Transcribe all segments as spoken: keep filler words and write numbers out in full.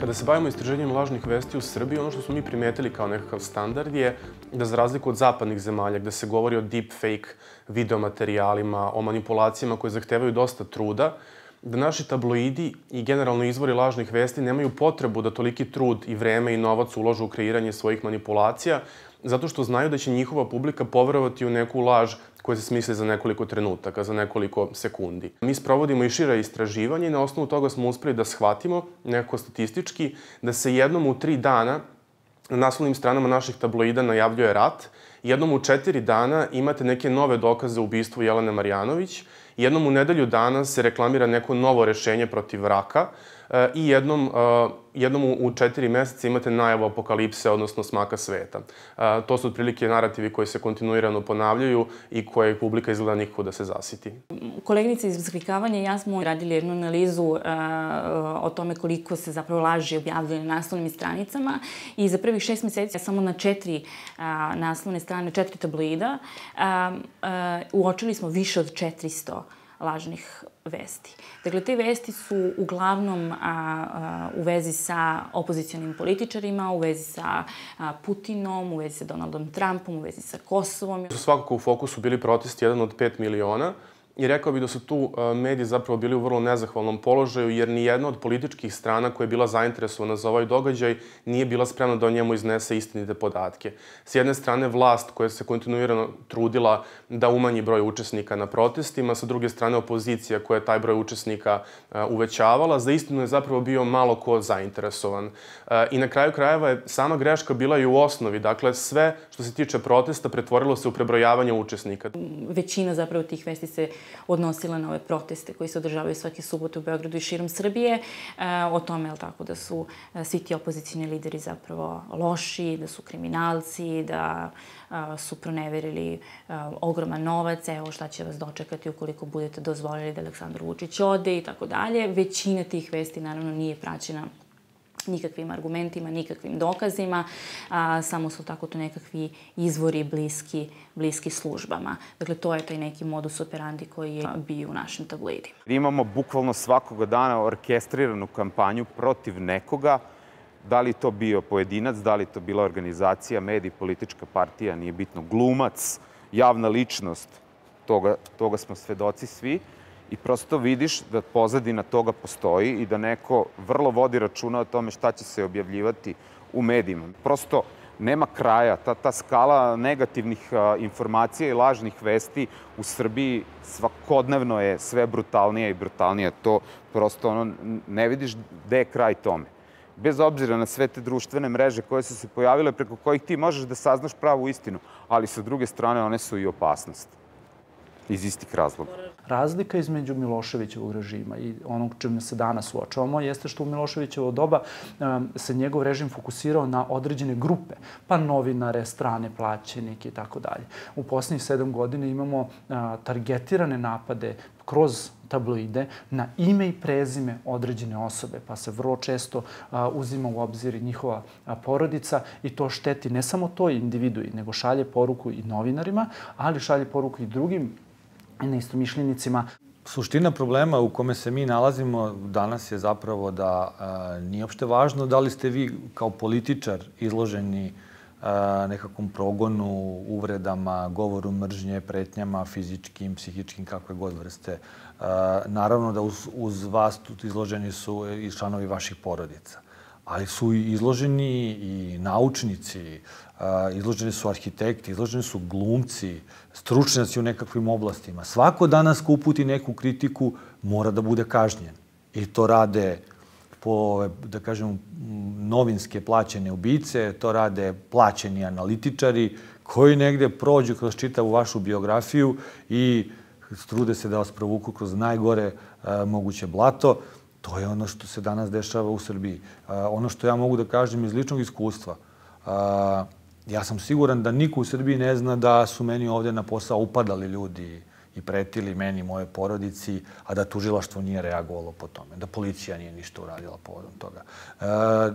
Kada se bavimo istraživanjem lažnih vesti u Srbiji, ono što smo mi primetili kao nekakav standard je da za razliku od zapadnih zemalja, gde se govori o deepfake videomaterijalima, o manipulacijama koje zahtevaju dosta truda, da naši tabloidi i generalno izvori lažnih vesti nemaju potrebu da toliki trud i vreme i novac uložu u kreiranje svojih manipulacija, zato što znaju da će njihova publika poverovati u neku laž koja se smisli za nekoliko trenutaka, za nekoliko sekundi. Mi sprovodimo i šira istraživanje i na osnovu toga smo uspeli da shvatimo, nekako statistički, da se jednom u tri dana na naslovnim stranama naših tabloida najavljuje rat, jednom u četiri dana imate neke nove dokaze o ubistvu Jelene Marjanović, jednom u nedelju dana se reklamira neko novo rešenje protiv raka i jednom, jednom u četiri meseca imate najavu apokalipse, odnosno smaka sveta. To su otprilike narativi koji se kontinuirano ponavljaju i koje publika izgleda nikako da se zasiti. Koleginice iz Razklikavanja i ja smo radili jednu analizu o tome koliko se zapravo laži objavljaju na naslovnim stranicama i za prvih šest meseci samo na četiri naslovne strane, četiri tabloida, uočili smo više od četiristo lažnih vesti. Dakle, te vesti su uglavnom u vezi sa opozicionim političarima, u vezi sa Putinom, u vezi sa Donaldom Trumpom, u vezi sa Kosovom. Su svakako u fokusu bili protesti, jedan od pet miliona. I rekao bih da su tu mediji zapravo bili u vrlo nezahvalnom položaju, jer ni jedna od političkih strana koja je bila zainteresovana za ovaj događaj nije bila spremna da o njemu iznese istinite podatke. S jedne strane vlast koja se kontinuirano trudila da umanji broj učesnika na protestima, sa druge strane opozicija koja je taj broj učesnika uvećavala. Za istinu je zapravo bio malo ko zainteresovan. I na kraju krajeva je sama greška bila i u osnovi. Dakle, sve što se tiče protesta pretvorilo se u prebrojavanje učesnika. Većina zapravo tih vesti se odnosila na ove proteste koji se održavaju svake subote u Beogradu i širom Srbije. O tome, je li tako, da su svi ti opozicijni lideri zapravo loši, da su kriminalci, da su proneverili ogroman novac, evo šta će vas dočekati ukoliko budete dozvolili da Aleksandar Vučić ode i tako dalje. Većina tih vesti naravno nije praćena nikakvim argumentima, nikakvim dokazima, samo su tako to nekakvi izvori bliski, bliski službama. Dakle, to je taj neki modus operandi koji je bio u našim tabloidima. Imamo bukvalno svakoga dana orkestriranu kampanju protiv nekoga, da li to bio pojedinac, da li to bila organizacija, medij, politička partija, nije bitno, glumac, javna ličnost, toga, toga smo svedoci svi. I prosto vidiš da pozadina toga postoji i da neko vrlo vodi računa o tome šta će se objavljivati u medijima. Prosto nema kraja. Ta, ta skala negativnih a, informacija i lažnih vesti u Srbiji svakodnevno je sve brutalnija i brutalnija. To prosto ono, ne vidiš gde je kraj tome. Bez obzira na sve te društvene mreže koje su se pojavile, preko kojih ti možeš da saznaš pravu istinu, ali sa druge strane one su i opasnost. Iz istih razloga. Razlika između Miloševićevog režima i onog čime se danas suočavamo jeste što u Miloševićevo doba se njegov režim fokusirao na određene grupe, pa novinare, strane plaćenike i tako dalje. U posljednjih sedam godina imamo targetirane napade kroz tabloide na ime i prezime određene osobe, pa se vrlo često uzima u obzir njihova porodica i to šteti ne samo toj individui, nego šalje poruku i novinarima, ali šalje poruku i drugim neistomišljenicima. Suština problema u kome se mi nalazimo danas je zapravo da nije uopšte važno da li ste vi kao političar izloženi nekakvom progonu, uvredama, govoru mržnje, pretnjama, fizičkim, psihičkim, kakve god vrste. Naravno da uz, uz vas izloženi su i članovi vaših porodica. Ali su izloženi i naučnici, izloženi su arhitekti, izloženi su glumci, stručnjaci u nekakvim oblastima. Svako danas ko uputi neku kritiku mora da bude kažnjen. I to rade po, da kažem, novinske plaćene ubice, to rade plaćeni analitičari koji negde prođu kroz čitavu vašu biografiju i trude se da vas provuku kroz najgore moguće blato. To je ono što se danas dešava u Srbiji. Ono što ja mogu da kažem iz ličnog iskustva, ja sam siguran da niko u Srbiji ne zna da su meni ovde na posao upadali ljudi i pretili meni, moje porodici, a da tužilaštvo nije reagovalo po tome, da policija nije ništa uradila povodom toga.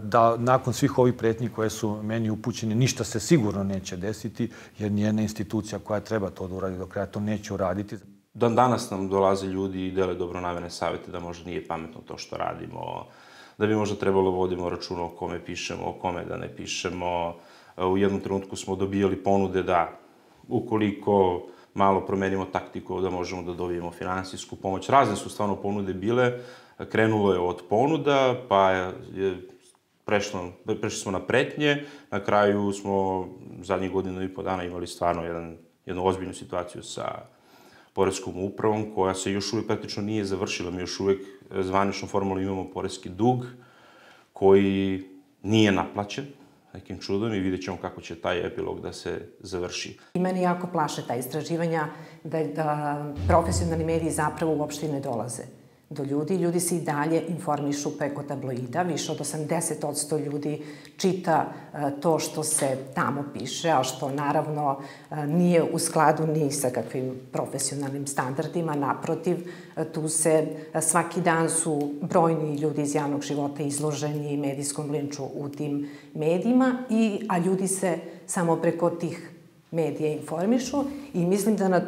Da nakon svih ovih pretnji koje su meni upućene, ništa se sigurno neće desiti, jer nijedna institucija koja treba to da uradi do kraja to neće uraditi. Dan danas nam dolaze ljudi i dele dobronamerne savete da možda nije pametno to što radimo, da bi možda trebalo vodimo računa o kome pišemo, o kome da ne pišemo. U jednom trenutku smo dobijali ponude da ukoliko malo promenimo taktiku, da možemo da dobijemo finansijsku pomoć. Razne su stvarno ponude bile. Krenulo je od ponuda, pa je prešlo, prešli smo na pretnje. Na kraju smo zadnjih godinu i po dana imali stvarno jedan, jednu ozbiljnu situaciju sa poreskom upravom, koja se još uvijek praktično nije završila. Mi još uvijek zvanično formalno imamo poreski dug koji nije naplaćen nekim čudom i vidjet ćemo kako će taj epilog da se završi. I meni jako plaše ta istraživanja da, da profesionalni mediji zapravo uopšte ne dolaze do ljudi. Ljudi se i dalje informišu preko tabloida. Više od osamdeset posto ljudi čita to što se tamo piše, a što naravno nije u skladu ni sa kakvim profesionalnim standardima. Naprotiv, tu se svaki dan su brojni ljudi iz javnog života izloženi medijskom linču u tim medijima, i, a ljudi se samo preko tih medija informišu i mislim da na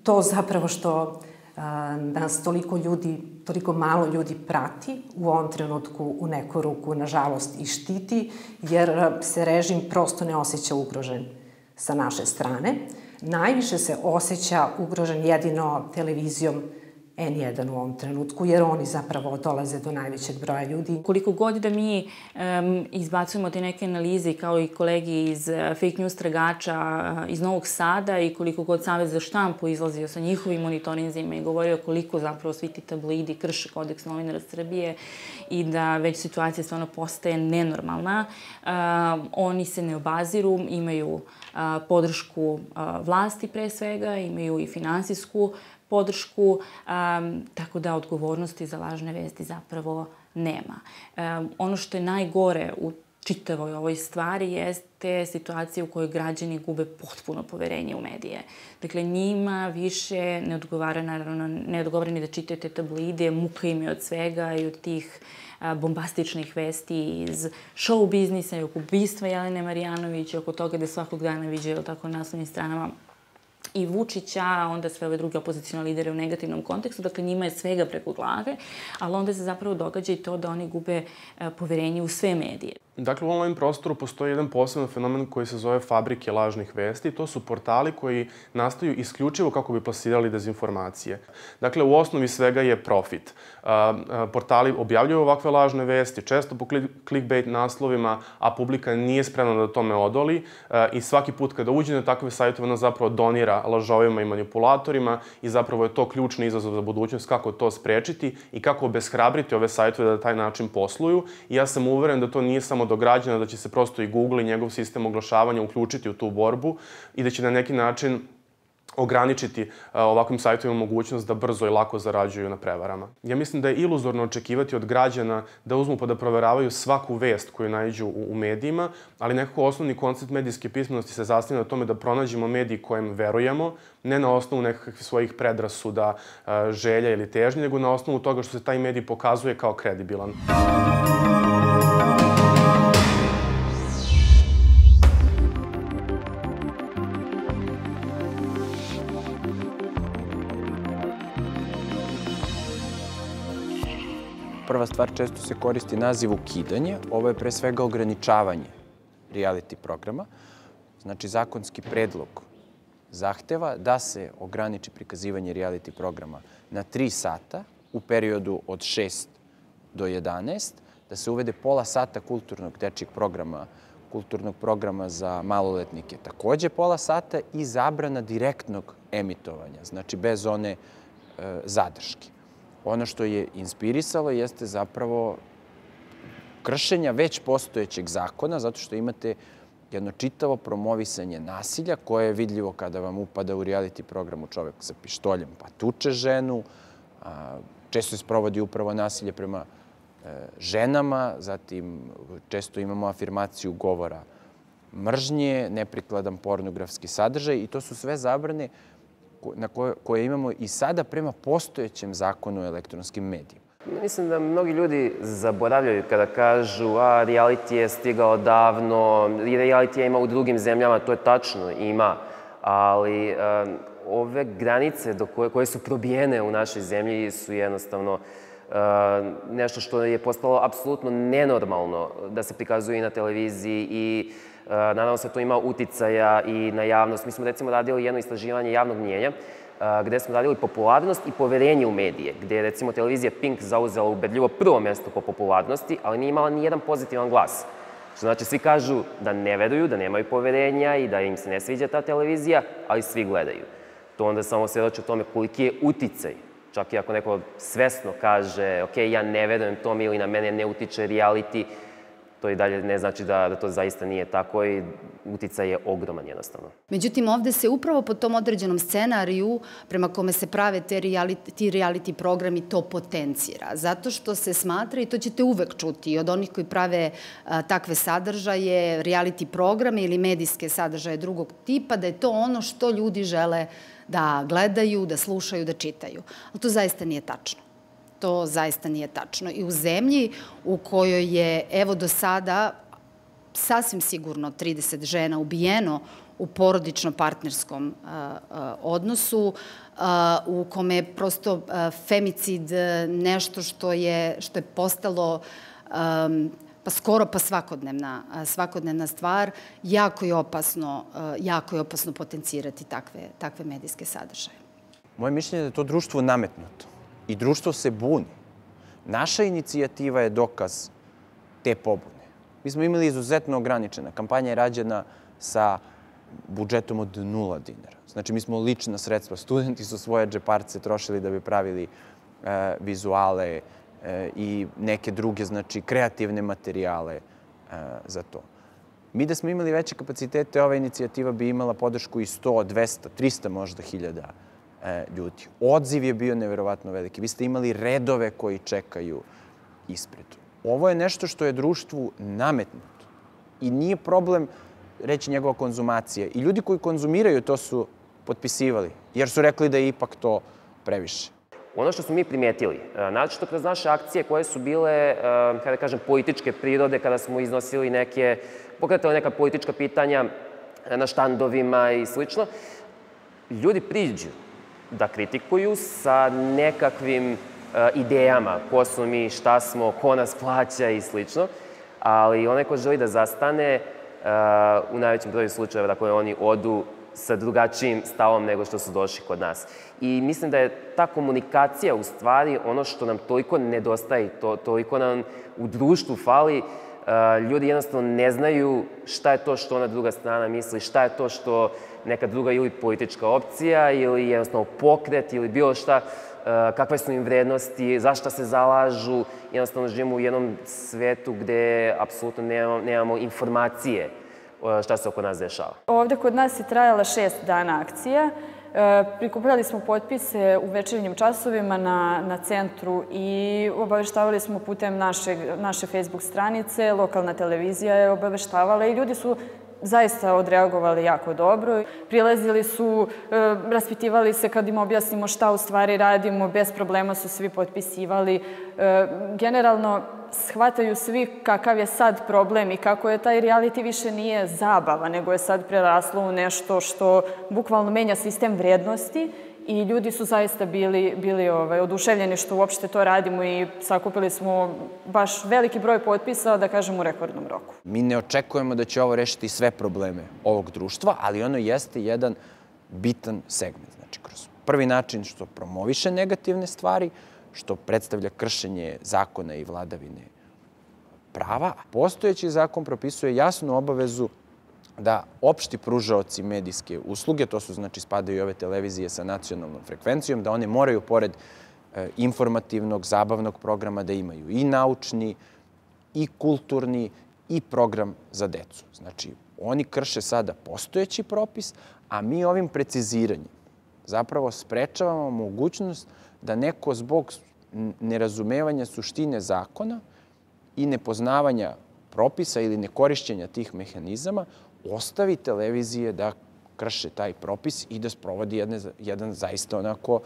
to zapravo što nas toliko ljudi, toliko malo ljudi prati u ovom trenutku u neku ruku, nažalost, i štiti, jer se režim prosto ne osjeća ugrožen sa naše strane. Najviše se osjeća ugrožen jedino televizijom en jedan u ovom trenutku, jer oni zapravo dolaze do najvećeg broja ljudi. Koliko god da mi um, izbacujemo te neke analize, kao i kolegi iz uh, fake news tragača uh, iz Novog Sada, i koliko god Savez za štampu izlazio sa njihovim monitorinzima i govorio koliko zapravo svi ti tabloidi krše kodeks novinara Srbije i da već situacija stvarno postaje nenormalna, uh, oni se ne obaziru, imaju uh, podršku uh, vlasti pre svega, imaju i finansijsku podršku, um, tako da odgovornosti za lažne vesti zapravo nema. Um, ono što je najgore u čitavoj ovoj stvari jeste situacija u kojoj građani gube potpuno poverenje u medije. Dakle, njima više ne odgovara, naravno, ne odgovara ni da čitaju te tabloide, muka im je od svega i od tih a, bombastičnih vesti iz show biznisa i oko ubistva Jelene Marjanović, oko toga da svakog dana viđaju tako na naslovnim stranama i Vučića, a onda sve ove druge opozicijone lidere u negativnom kontekstu. Dakle, njima je svega preko glave, ali onda se zapravo događa i to da oni gube poverenje u sve medije. Dakle, u online prostoru postoji jedan poseban fenomen koji se zove fabrike lažnih vesti. To su portali koji nastaju isključivo kako bi plasirali dezinformacije. Dakle, u osnovi svega je profit. Portali objavljuju ovakve lažne vesti, često po clickbait naslovima, a publika nije spremna da tome odoli. I svaki put kada uđe na takve sajtove, ona zapravo donira lažovima i manipulatorima i zapravo je to ključni izazov za budućnost, kako to sprečiti i kako obeshrabriti ove sajtove da taj način posluju. I ja sam uveren da to nije samo do građana, da će se prosto i Google i njegov sistem oglašavanja uključiti u tu borbu i da će na neki način ograničiti ovakvim sajtovima mogućnost da brzo i lako zarađuju na prevarama. Ja mislim da je iluzorno očekivati od građana da uzmu pa da proveravaju svaku vest koju naiđu u medijima, ali nekako osnovni koncept medijske pismenosti se zasniva na tome da pronađemo mediji kojem verujemo, ne na osnovu nekakvih svojih predrasuda, želja ili težnje, nego na osnovu toga što se taj medij pokazuje kao kredibilan. Prva stvar, često se koristi naziv ukidanje. Ovo je pre svega ograničavanje reality programa. Znači, zakonski predlog zahteva da se ograniči prikazivanje reality programa na tri sata u periodu od šest do jedanaest, da se uvede pola sata kulturnog dečijeg programa, kulturnog programa za maloletnike, takođe pola sata, i zabrana direktnog emitovanja, znači bez one e, zadrške. Ono što je inspirisalo jeste zapravo kršenja već postojećeg zakona, zato što imate jedno čitavo promovisanje nasilja koje je vidljivo kada vam upada u reality programu čovek sa pištoljem pa tuče ženu. Često se sprovodi upravo nasilje prema ženama, zatim često imamo afirmaciju govora mržnje, neprikladan pornografski sadržaj, i to su sve zabrane na koje, koje imamo i sada prema postojećem zakonu o elektronskim medijima. Mislim da mnogi ljudi zaboravljaju kada kažu a reality je stigao davno, i reality je ima u drugim zemljama, to je tačno, ima, ali um, ove granice do koje, koje su probijene u našoj zemlji su jednostavno nešto što je postalo apsolutno nenormalno da se prikazuje i na televiziji i naravno se to ima uticaja i na javnost. Mi smo recimo radili jedno istraživanje javnog mnjenja gde smo radili popularnost i poverenje u medije, gde je recimo televizija Pink zauzela ubedljivo prvo mesto po popularnosti, ali nije imala ni jedan pozitivan glas. Što znači, svi kažu da ne veruju, da nemaju poverenja i da im se ne sviđa ta televizija, ali svi gledaju. To onda samo svedoči o tome koliki je uticaj. Čak i ako neko svesno kaže, ok, ja ne verujem tome ili na mene ne utiče reality, to i dalje ne znači da to zaista nije tako i uticaj je ogroman jednostavno. Međutim, ovde se upravo po tom određenom scenariju prema kome se prave ti reality programi to potencira. Zato što se smatra, i to ćete uvek čuti od onih koji prave takve sadržaje, reality programe ili medijske sadržaje drugog tipa, da je to ono što ljudi žele da gledaju, da slušaju, da čitaju. Ali to zaista nije tačno. To zaista nije tačno. I u zemlji u kojoj je, evo do sada, sasvim sigurno trideset žena ubijeno u porodično-partnerskom odnosu, u kome je prosto femicid nešto što je postalo pa skoro pa svakodnevna, svakodnevna stvar, jako je opasno, jako je opasno potencirati takve, takve medijske sadržaje. Moje mišljenje je da je to društvo nametnuto i društvo se buni. Naša inicijativa je dokaz te pobune. Mi smo imali izuzetno ograničena. Kampanja je rađena sa budžetom od nula dinara. Znači, mi smo lična sredstva. Studenti su svoje džeparce trošili da bi pravili e, vizuale, i neke druge, znači, kreativne materijale za to. Mi da smo imali veće kapacitete, ova inicijativa bi imala podršku i sto, dvesta, trista možda hiljada ljudi. Odziv je bio neverovatno veliki. Vi ste imali redove koji čekaju ispred. Ovo je nešto što je društvu nametnuto i nije problem reći njegova konzumacija. I ljudi koji konzumiraju to su potpisivali, jer su rekli da je ipak to previše. Ono što smo mi primetili, naročito kroz naše akcije koje su bile, kada kažem, političke prirode, kada smo iznosili neke, pokretali neka politička pitanja na štandovima i slično, ljudi priđu da kritikuju sa nekakvim idejama, ko smo mi, šta smo, ko nas plaća i slično, ali onaj ko želi da zastane, u najvećem broju slučajeva da koje oni odu sa drugačijim stavom nego što su došli kod nas. I mislim da je ta komunikacija u stvari ono što nam toliko nedostaje, to, toliko nam u društvu fali. Ljudi jednostavno ne znaju šta je to što ona druga strana misli, šta je to što neka druga ili politička opcija ili jednostavno pokret ili bilo šta, kakve su im vrednosti, zašto se zalažu. Jednostavno živimo u jednom svetu gde apsolutno nemamo, nemamo informacije šta se oko nas dešava. Ovde kod nas je trajala šest dana akcija. Prikupljali smo potpise u večernjim časovima na, na centru i obaveštavali smo putem naše, naše Facebook stranice, lokalna televizija je obaveštavala i ljudi su zaista odreagovali jako dobro. Prilazili su, raspitivali se kad im objasnimo šta u stvari radimo, bez problema su svi potpisivali. Generalno, shvataju svi kakav je sad problem i kako je taj reality više nije zabava, nego je sad preraslo u nešto što bukvalno menja sistem vrednosti i ljudi su zaista bili, bili ovaj, oduševljeni što uopšte to radimo i sakupili smo baš veliki broj potpisa, da kažem, u rekordnom roku. Mi ne očekujemo da će ovo rešiti sve probleme ovog društva, ali ono jeste jedan bitan segment. Znači, kroz prvi način što promoviše negativne stvari, što predstavlja kršenje zakona i vladavine prava, a postojeći zakon propisuje jasnu obavezu da opšti pružaoci medijske usluge, to su, znači, spadaju i ove televizije sa nacionalnom frekvencijom, da one moraju, pored informativnog, zabavnog programa, da imaju i naučni, i kulturni, i program za decu. Znači, oni krše sada postojeći propis, a mi ovim preciziranjem zapravo sprečavamo mogućnost da neko zbog nerazumevanja suštine zakona i nepoznavanja propisa ili nekorišćenja tih mehanizama ostavi televizije da krše taj propis i da sprovodi jedne, jedan zaista onako,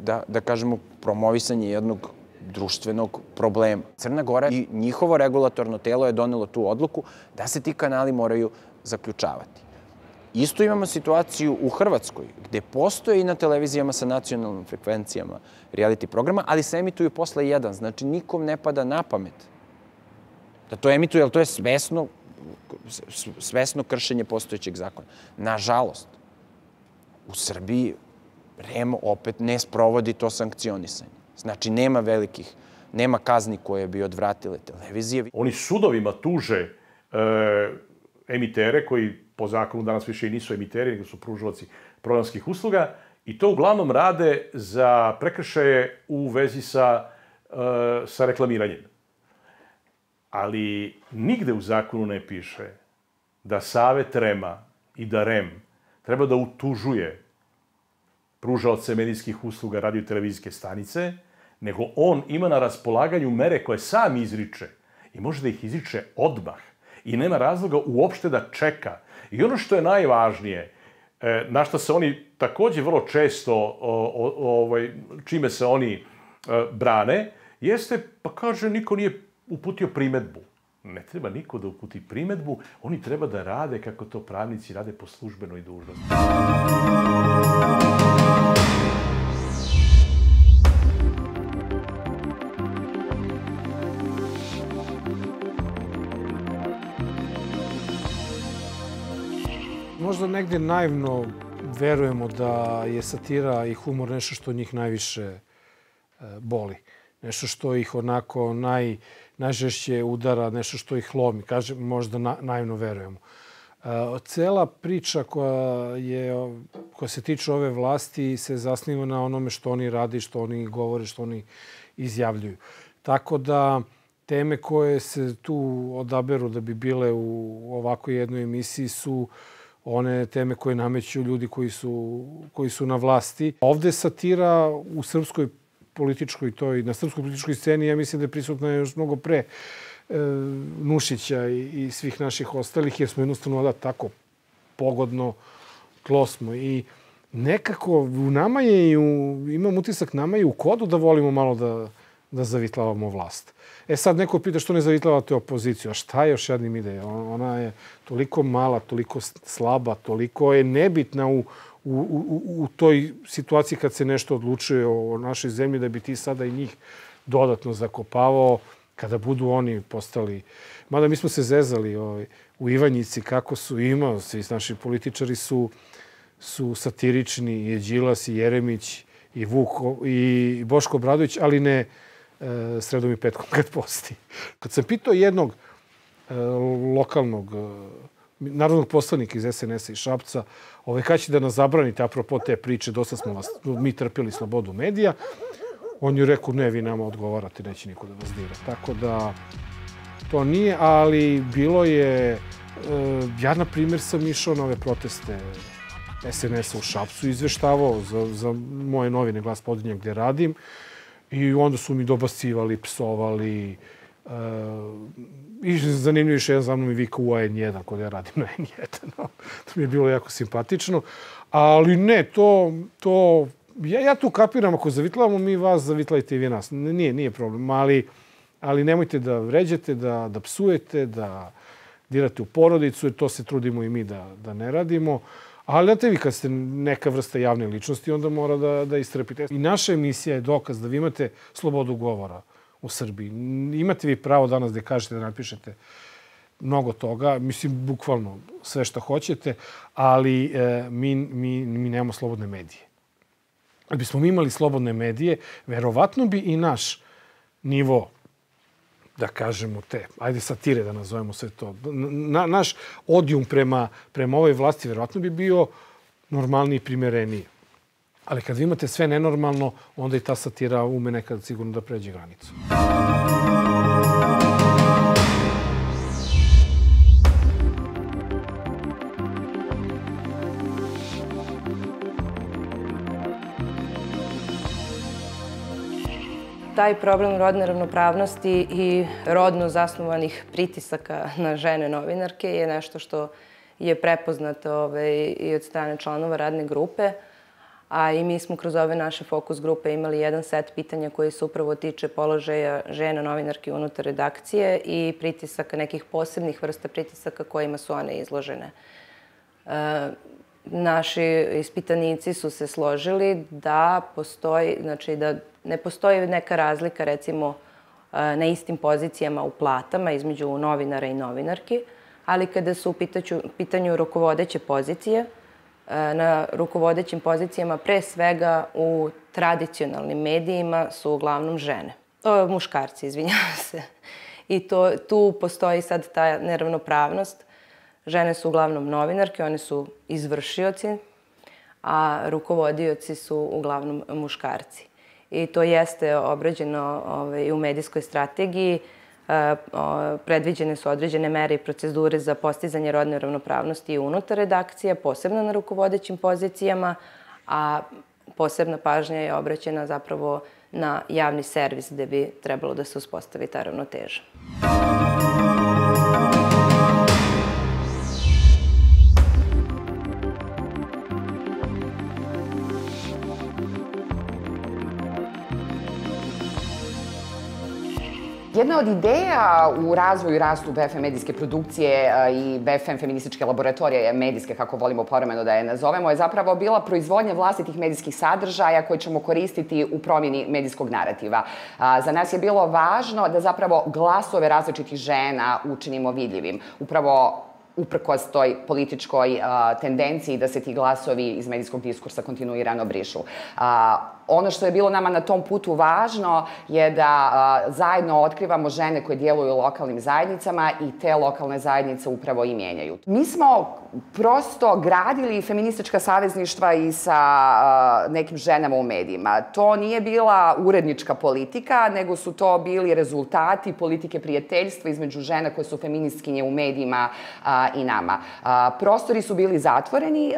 da, da kažemo, promovisanje jednog društvenog problema. Crna Gora i njihovo regulatorno telo je donelo tu odluku da se ti kanali moraju zaključavati. Isto imamo situaciju u Hrvatskoj, gde postoje i na televizijama sa nacionalnim frekvencijama reality programa, ali se emituju posle jedan. Znači, nikom ne pada na pamet da to emituje, ali to je svesno, svesno kršenje postojećeg zakona. Nažalost, u Srbiji R E M opet ne sprovodi to sankcionisanje. Znači, nema velikih, nema kazni koje bi odvratile televizije. Oni sudovima tuže emitere koji po zakonu danas više i nisu emiteri, nego su pružalaci programskih usluga i to uglavnom rade za prekršaje u vezi sa, sa reklamiranjem. Ali nigde u zakonu ne piše da Savet R E M-a i da R E M treba da utužuje pružaoce medijskih usluga radio i televizijske stanice, nego on ima na raspolaganju mere koje sam izriče i može da ih izriče odmah i nema razloga uopšte da čeka. I ono što je najvažnije, na što se oni takođe vrlo često, čime se oni brane, jeste, pa kaže, niko nije uputio primetbu. Ne treba niko da uputi primetbu, oni treba da rade kako to pravnici rade po službenoj dužnosti. Možda negde naivno verujemo da je satira i humor nešto što njih najviše boli. Nešto što ih onako naj, najžešće udara, nešto što ih lomi. Kažem, možda na, naivno verujemo. Cela priča koja, je, koja se tiče ove vlasti se zasniva na onome što oni radi, što oni govore, što oni izjavljuju. Tako da teme koje se tu odaberu da bi bile u ovakvoj jednoj emisiji su one teme koje nameću ljudi koji su, koji su na vlasti. Ovde satira u srpskoj političkoj toj, na srpskoj političkoj sceni, ja mislim da je prisutna još mnogo pre e, Nušića i, i svih naših ostalih, jer smo jednostavno da tako pogodno tlo smo. I nekako u nama je, i u, imam utisak, nama je u kodu da volimo malo da, da zavitlavamo vlast. E sad neko pita što ne zavitlavate opoziciju. A šta još jednim ide? Ona je toliko mala, toliko slaba, toliko je nebitna u, u, u, u toj situaciji kad se nešto odlučuje o našoj zemlji, da bi ti sada i njih dodatno zakopavao kada budu oni postali... Mada mi smo se zezali ovaj, u Ivanjici kako su imao, svi naši političari su, su satirični, i Đilas, i Jeremić, i Vuk, i Boško Obradović, ali ne sredom i petkom kad posti. Kad sam pitao jednog e, lokalnog e, narodnog poslanika iz es en es-a i Šapca, ovaj, kada će da nas zabranite apropo te priče, dosta smo vas, mi trpili slobodu medija, on je rekao, ne, vi nama odgovarate, neće niko da vas dira. Tako da to nije, ali bilo je... E, ja, na primjer, sam išao na ove proteste es en es-a u Šapcu i izveštavao za, za moje novine Glas Podrinja gdje radim. I onda su mi dobacivali, psovali. Uh, I zanimljivo još jedan za mnom i vikao u a en jedan, kod ja radim na en jedan. To mi je bilo jako simpatično. Ali ne, to... to ja, ja tu kapiram, ako zavitlavamo mi vas, zavitlajte i vi nas. Nije, nije problem, ali, ali nemojte da vređate, da, da psujete, da dirate u porodicu, jer to se trudimo i mi da, da ne radimo. Ali znate vi, kad ste neka vrsta javne ličnosti, onda mora da, da istrpite. I naša emisija je dokaz da vi imate slobodu govora u Srbiji. Imate vi pravo danas da kažete, da napišete mnogo toga, mislim, bukvalno sve što hoćete, ali e, mi, mi, mi nemamo slobodne medije. Da bismo mi imali slobodne medije, verovatno bi i naš nivo, da kažemo te, ajde satire da nazovemo sve to, na, naš odijum prema, prema ovoj vlasti verovatno bi bio normalniji i primereniji. Ali kad vi imate sve nenormalno, onda i ta satira ume nekad sigurno da pređe granicu. Taj problem rodne ravnopravnosti i rodno zasnovanih pritisaka na žene novinarke je nešto što je prepoznato ovaj, i od strane članova radne grupe. A i mi smo kroz ove naše fokus grupe imali jedan set pitanja koji se upravo tiče položaja žena novinarki unutar redakcije i pritisaka, nekih posebnih vrsta pritisaka kojima su one izložene. naši ispitanici su se složili da postoji, znači da ne postoji neka razlika recimo na istim pozicijama u platama između novinara i novinarki, ali kada su u pitanju rukovodeće pozicije, na rukovodećim pozicijama pre svega u tradicionalnim medijima su uglavnom žene. O, muškarci, izvinjavam se. I to, tu postoji sad ta neravnopravnost. Žene su uglavnom novinarke, one su izvršioci, a rukovodioci su uglavnom muškarci. I to jeste obrađeno ovaj, u medijskoj strategiji. E, o, predviđene su određene mere i procedure za postizanje rodne ravnopravnosti unutar redakcije, posebno na rukovodećim pozicijama, a posebna pažnja je obraćena zapravo na javni servis gde bi trebalo da se uspostavi ta ravnoteža. Jedna od ideja u razvoju i rastu B F M medijske produkcije i B F M feminističke laboratorije medijske, kako volimo povremeno da je nazovemo, je zapravo bila proizvodnja vlastitih medijskih sadržaja koje ćemo koristiti u promjeni medijskog narativa. Za nas je bilo važno da zapravo glasove različitih žena učinimo vidljivim. Upravo uprkos toj političkoj tendenciji da se ti glasovi iz medijskog diskursa kontinuirano brišu. Ono što je bilo nama na tom putu važno je da zajedno otkrivamo žene koje djeluju u lokalnim zajednicama i te lokalne zajednice upravo i mijenjaju. Mi smo prosto gradili feministička savezništva i sa nekim ženama u medijima. To nije bila urednička politika, nego su to bili rezultati politike prijateljstva između žena koje su feministkinje u medijima i nama. Prostori su bili zatvoreni,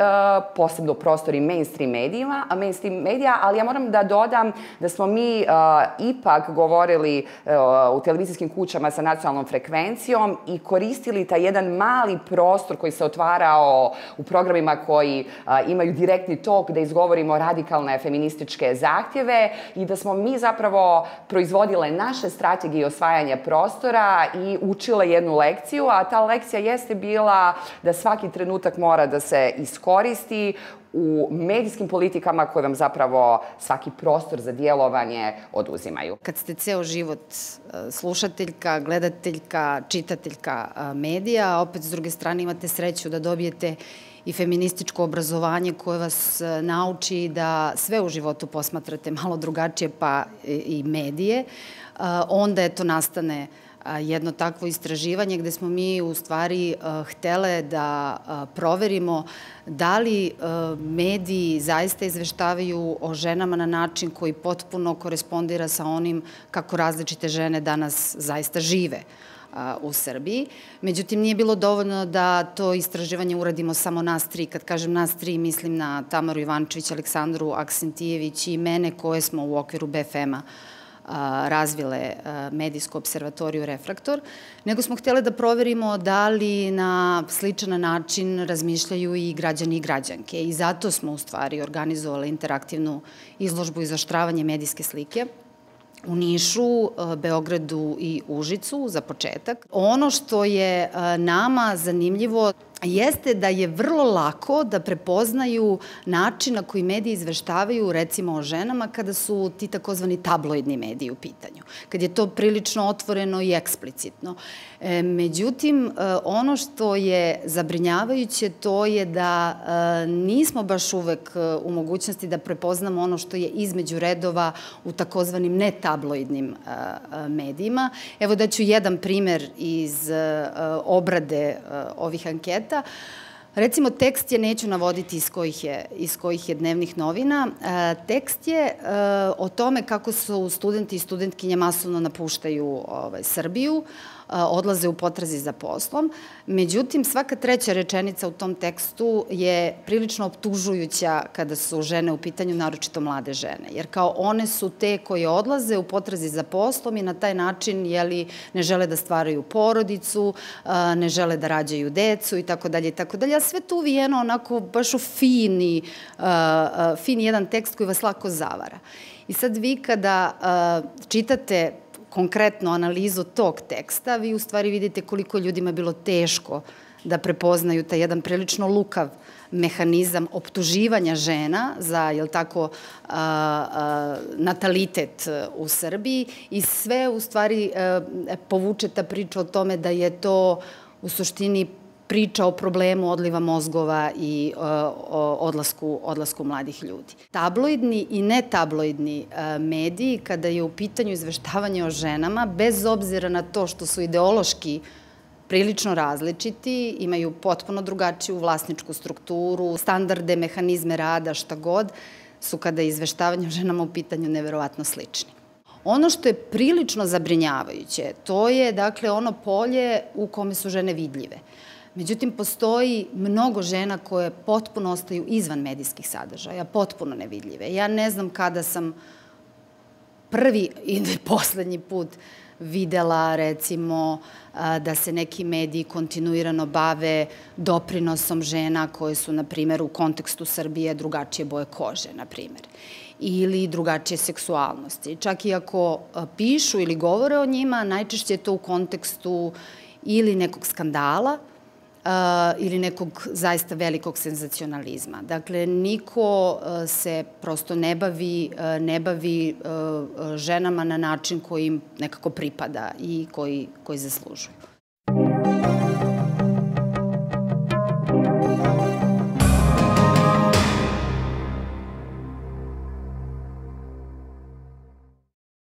posebno prostori mainstream medijima, mainstream medija, ali ja moram da dodam da smo mi uh, ipak govorili uh, u televizijskim kućama sa nacionalnom frekvencijom i koristili taj jedan mali prostor koji se otvarao u programima koji uh, imaju direktni tok da izgovorimo radikalne feminističke zahtjeve i da smo mi zapravo proizvodile naše strategije osvajanja prostora i učile jednu lekciju, a ta lekcija jeste bila da svaki trenutak mora da se iskoristi u medijskim politikama koje vam zapravo svaki prostor za djelovanje oduzimaju. Kad ste ceo život slušateljka, gledateljka, čitateljka medija, a opet s druge strane imate sreću da dobijete i feminističko obrazovanje koje vas nauči da sve u životu posmatrate malo drugačije, pa i medije, onda eto nastane jedno takvo istraživanje gde smo mi u stvari htele da proverimo da li mediji zaista izveštavaju o ženama na način koji potpuno korespondira sa onim kako različite žene danas zaista žive u Srbiji. Međutim, nije bilo dovoljno da to istraživanje uradimo samo nas tri. Kad kažem nas tri, mislim na Tamaru Ivančević, Aleksandru Aksentijević i mene koje smo u okviru B F M-a razvile medijsku observatoriju Refraktor, nego smo htjeli da proverimo da li na sličan način razmišljaju i građani i građanke. I zato smo u stvari organizovali interaktivnu izložbu i zaštravanje medijske slike u Nišu, Beogradu i Užicu za početak. Ono što je nama zanimljivo jeste da je vrlo lako da prepoznaju način na koji mediji izveštavaju recimo o ženama kada su ti takozvani tabloidni mediji u pitanju, kad je to prilično otvoreno i eksplicitno. Međutim, ono što je zabrinjavajuće to je da nismo baš uvek u mogućnosti da prepoznamo ono što je između redova u takozvanim netabloidnim medijima. Evo daću jedan primer iz obrade ovih anketa. Recimo, tekst je, neću navoditi iz kojih je, iz kojih je dnevnih novina, tekst je o tome kako su studenti i studentkinje masovno napuštaju ovaj, Srbiju, odlaze u potrazi za poslom. Međutim, svaka treća rečenica u tom tekstu je prilično optužujuća kada su žene u pitanju, naročito mlade žene. Jer kao one su te koje odlaze u potrazi za poslom i na taj način jeli, ne žele da stvaraju porodicu, ne žele da rađaju decu i tako dalje i tako dalje. A sve tu uvijeno onako baš u fini, fini jedan tekst koji vas lako zavara. I sad vi kada čitate konkretno analizu tog teksta, vi u stvari vidite koliko ljudima je bilo teško da prepoznaju taj jedan prilično lukav mehanizam optuživanja žena za, jel tako, a, a, natalitet u Srbiji i sve u stvari a, povuče ta priča o tome da je to u suštini priča o problemu odliva mozgova i o odlasku, odlasku mladih ljudi. Tabloidni i netabloidni mediji, kada je u pitanju izveštavanje o ženama, bez obzira na to što su ideološki prilično različiti, imaju potpuno drugačiju vlasničku strukturu, standarde, mehanizme rada, šta god, su kada je izveštavanje o ženama u pitanju neverovatno slični. Ono što je prilično zabrinjavajuće, to je, dakle, ono polje u kome su žene vidljive. Međutim, postoji mnogo žena koje potpuno ostaju izvan medijskih sadržaja, potpuno nevidljive. Ja ne znam kada sam prvi i poslednji put videla, recimo, da se neki mediji kontinuirano bave doprinosom žena koje su, na primjer, u kontekstu Srbije drugačije boje kože, na primjer, ili drugačije seksualnosti. Čak i ako pišu ili govore o njima, najčešće je to u kontekstu ili nekog skandala, ili nekog zaista velikog senzacionalizma. Dakle, niko se prosto ne bavi, ne bavi ženama na način koji im nekako pripada i koji, koji zaslužuju.